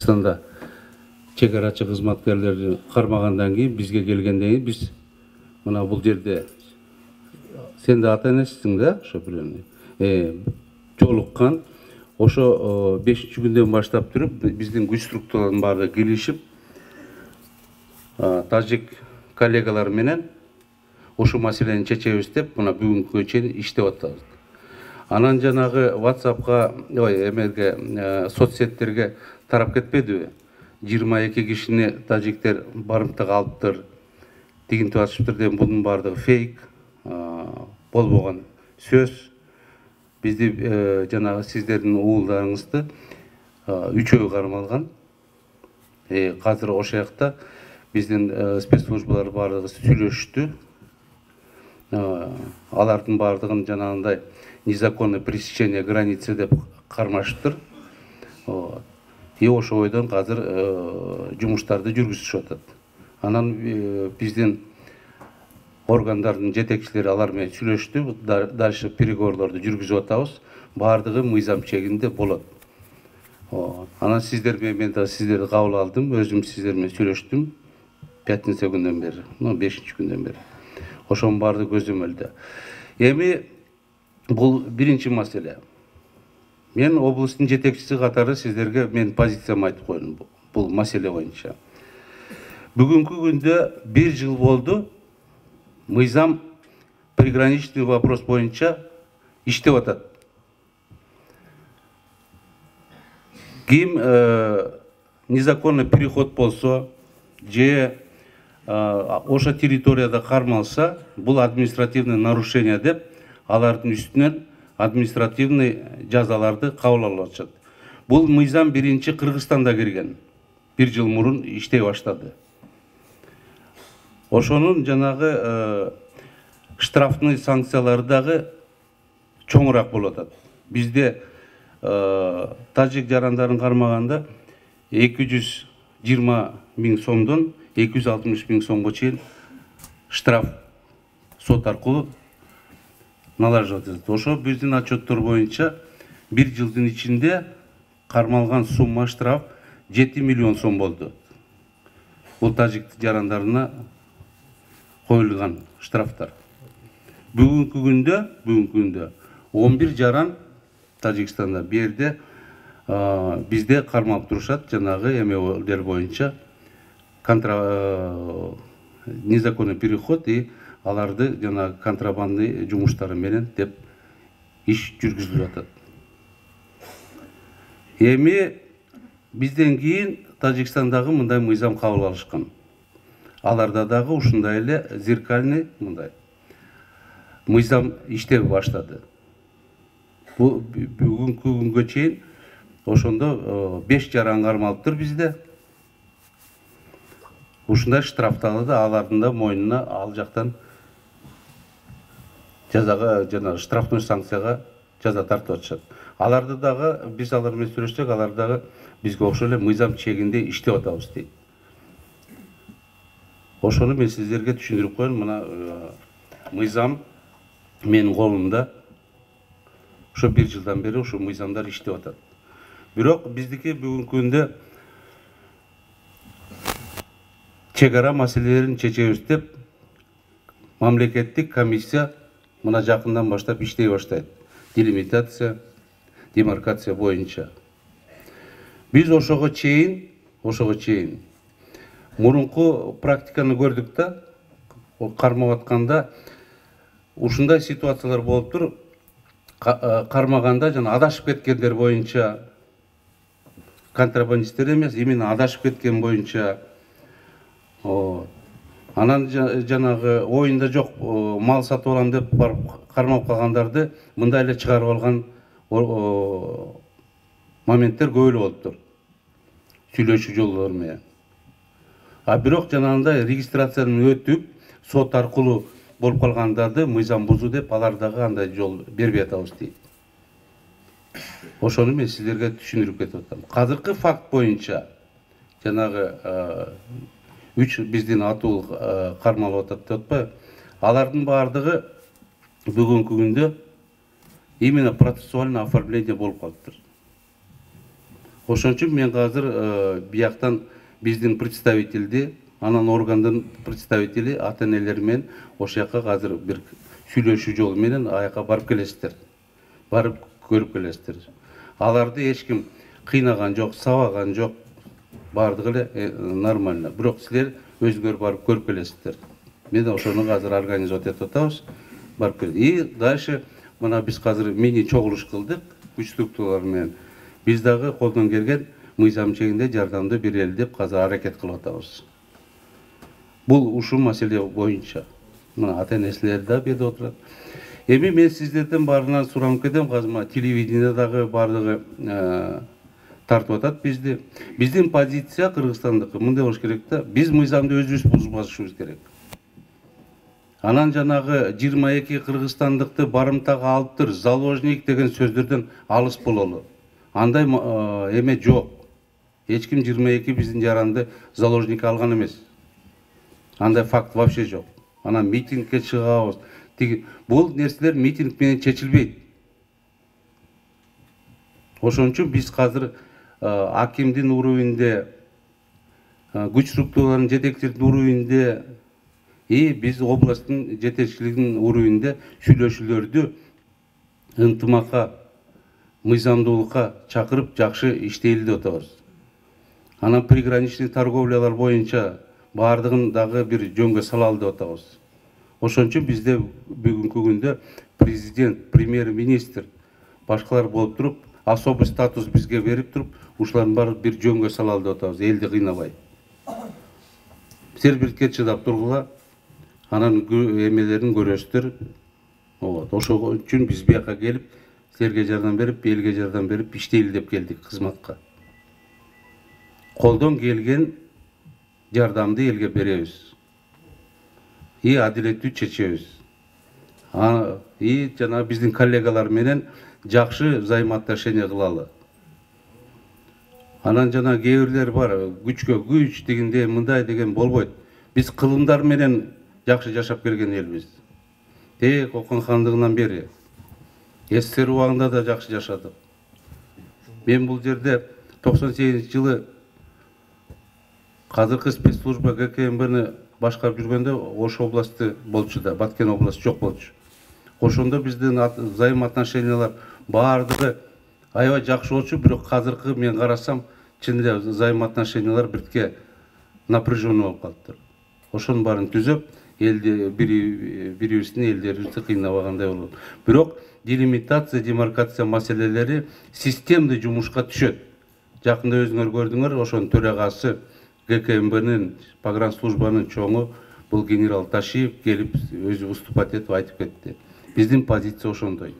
Тажикстанда чек арачы кызматкерлерди кармагандан кийин бизге келгенден кийин биз мына бул жерде сен да ата энесиң да ошо бирөөнү жолуккан. Ошо 5-күндөн баштап туруп биздин күч структуралардын баары келишип тажик коллегалар менен ушул маселени чечебиз деп мына бүгүнкүгө чейин иштеп атабыз. Анан жанагы WhatsApp'ка, эмерге, соцсеттерге тарап кетпедиби? 22 кишини тажиктер барымтага алыптыр, тигинтип атышыптыр деген бунун баардыгы фейк, болбогон сөз. Бизди жанагы сиздердин уулдарыңызды 3-өө кармалган. Азыр ошол жакта биздин спецслужбалар баардыгы сүйлөшүштү. Алардын баардыгын жанагындай незаконное пересечение границы деп кармашыптыр. Ошол бойдон азыр жумуштарды жүргүзүшүп атат. Анан биздин органдардын жетекчилери алар менен сүйлөштү. Дальше переговорлорду жүргүзүп атабыз. Баардыгы мыйзам чегинде болот. Анан сиздер менен мен да сиздерди кабыл алдым. Өзүм сиздер менен сүйлөштүм. Пятница күндөн бери, 5-күндөн бери. Ошонун баардыгы көзөмөлдө. Эми бул биринчи маселе. Мен облустун жетекчиси катары сиздерге мен позициямды айтып койдум бул маселе боюнча. Бүгүнкү күндө 1 жыл болду. Мыйзам приграничный вопрос боюнча иштеп атат. Ким незаконный переход болсо, же ошо территорияда кармалса, бул административный нарушение деп алардын үстүнөн административный жазаларды кабыл алып атышат. Бул мыйзам биринчи Кыргызстанда кирген. 1 жыл мурун иштей баштады. Ошонун жанагы штрафный санкциялары дагы чоңураак болуп атат. Бизде тажик жарандарын кармаганда 220 000 сомдон 260 000 сомго чейин штраф сот аркылуу налажып атат. Ошо биздин отчеттор боюнча 1 жылдын ичинде кармалган сумма штраф 7 миллион сом болду. Бул тажик жарандарына коюлган штрафтар. Бүгүнкү күндө 11 жаран Тажикстанда берде бизде кармалып турушат, жанагы эмелер боюнча незаконный переход и аларды жанагы контрабандный жумуштары менен деп иш жүргүзүлүп атат. Эми бизден кийин Тажикстандагы мындай мыйзам кабыл алышкан. Аларда дагы ушундай эле зеркальный мындай мыйзам иштеп баштады. Бул бүгүнкү күнгө чейин ошондо 5 жаран кармалыптыр бизде. Ушундай штрафтарды да алардын да мойнуна ал жактан жазага жана штрафной санкцияга жаза тартып атышат. Аларды дагы биз алар менен сүйлөшсөк, алар дагы бизге окшой эле мыйзам чегинде иштеп атабыз дейт. Ошону мен сиздерге түшүндүрүп коеюн. Мына мыйзам менин колумда. Ошо 1 жылдан бери ошо мыйзамдар иштеп атат. Бирок биздики бүгүнкү күндө чек ара маселелерин чечебиз деп мамлекеттик комиссия мына жакындан баштап иштей баштайт. Делимитация, демаркация боюнча. Биз ошого чейин мурунку практиканы көрдүк да, кармап атканда ушундай ситуациялар болуп туруп, кармаганда жана адашып кеткендер боюнча, контрабандисттер эмес, именно адашып кеткен боюнча, анан жанагы оюнда жок мал сатып алам деп барып кармап калгандарды мындай эле чыгарып алган моменттер көп эле болуптур. Сүйлөшүү жолдору менен. Бирок жанагындай регистрациядан өтүп, сот аркылуу болуп калгандарды мыйзам бузуу деп алар дагы андай жол бербей атабыз дейт. Ошону мен сиздерге түшүндүрүп кетип атам. Азыркы факт боюнча жанагы 3 биздин атуу кармалып атат деп атпайбы? Алардын баардыгы бүгүнкү күндө именно процессуальный оформление болуп калыптыр. Ошон үчүн мен азыр бияктан биздин представительди, анан органдын представители ата энелер менен ошол жака азыр бир сүйлөшүү жолу менен аяка барып келесиздер. Барып көрүп келесиздер. Аларды эч ким кыйнаган жок, сабаган жок. Бардыгы эле нормально. Бирок силер өзүңөр барып көрүп келесиздер. Мен ошону азыр организовать этип атабыз. Барып кел. И дальше мына биз азыр мини чогулуш кылдык күч структуралар менен. Биз дагы колдон келген мыйзам чегинде жардамды берели деп азыр аракет кылып атабыз. Бул ушул маселе боюнча. Мына ата энелер да берип отурат. Эми мен сиздерден баарынан суранып кетем, казма телевидениедагы бардыгы тартып атат бизди. Биздин позиция Кыргызстандыкы мындай болуш керек да, биз мыйзамды өзүбүз бузбашыбыз керек. Анан жанагы 22 кыргызстандыкты барымтага алыптыр, заложник деген сөздөрдөн алыс бололу. Андай эме жок. Эч ким 22 биздин жаранды заложник алган эмес. Андай факт вообще жок. Анан митингке чыгабыз. Бул нерселер митинг менен чечилбейт. Ошон үчүн биз азыр акимдин уровенде, күч структураларынын жетекчилеринин уровенде биз областтын жетекчилигинин уровенде сүйлөшүүлөрдү ынтымакка, мыйзамдуулукка чакырып жакшы иштейли деп атабыз. Анан приграничный торговлялар боюнча бардыгын дагы бир жөнгө салалы деп атабыз. Ошон үчүн бизде бүгүнкү күндө президент, премьер-министр, башкалар болуп туруп, особый статус бизге берип туруп, ушулардын баарын бир жөнгө салалы деп атабыз, элди кыйнабай. Силер бирге чыдап тургула, анан эмелерин көрөсүздөр. Ошол үчүн биз бияка келип, силерге жардам берип, элге жардам берип иштейли деп келдик кызматка. Колдон келген жардамды элге беребиз. Адилеттүү чечебиз. Жана биздин коллегалар менен жакшы взаимоотношения кылалы. Анан жана кээ бирлер бар, күчкө күч дегенде мындай деген болбойт. Биз кылымдар менен жакшы жашап келген элбиз. Кокон хандыгынан бери. СССР убагында да жакшы жашадык. Мен бул жерде 98-жылы казыркы спецслужба ГКМБны башкарып жүргөндө Ош областы болчу да, Баткен областы жок болчу. Ошондо биздин взаимоотношениялар бардыгы аябай жакшы болчу, бирок азыркы мен карасам, чын эле взаимоотношениялар биртке напряженный болуп калыптыр. Ошонун баарын түзөп, элди бирибиздин элдерибизди кыйнабагандай болот. Бирок делимитация, демаркация маселелери системдүү жумушка түшөт. Жакында өзүңөр көрдүңөр, ошонун төрагасы ГКМБнын погранслужбанын чоңу бул генерал Ташиев келип өзү выступать этип айтып кетти. Биздин позиция ошондой.